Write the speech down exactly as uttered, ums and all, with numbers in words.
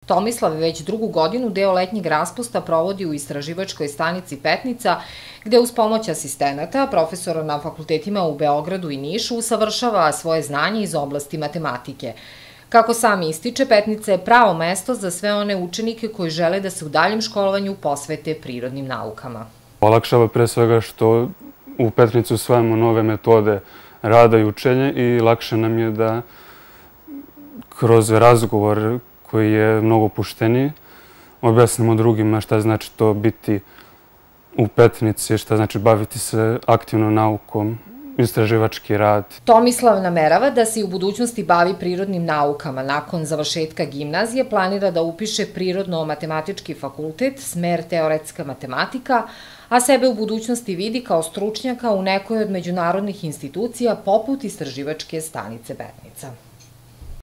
Tomislav već drugu godinu deo letnjeg raspusta provodi u istraživačkoj stanici Petnica, gde uz pomoć asistenata, profesora na fakultetima u Beogradu i Nišu, usavršava svoje znanje iz oblasti matematike. Kako sam ističe, Petnica je pravo mesto za sve one učenike koji žele da se u daljem školovanju posvete prirodnim naukama. Olakšava pre svega što u Petnici usvajamo nove metode rada i učenja i lakše nam je da kroz razgovor koji je mnogo opušteniji objasnimo drugima šta znači to biti u Petnici, šta znači baviti se aktivno naukom, istraživački rad. Tomislav namerava da se i u budućnosti bavi prirodnim naukama. Nakon završetka gimnazije planira da upiše Prirodno-matematički fakultet, smer teoretska matematika, a sebe u budućnosti vidi kao stručnjaka u nekoj od međunarodnih institucija poput istraživačke stanice Petnica.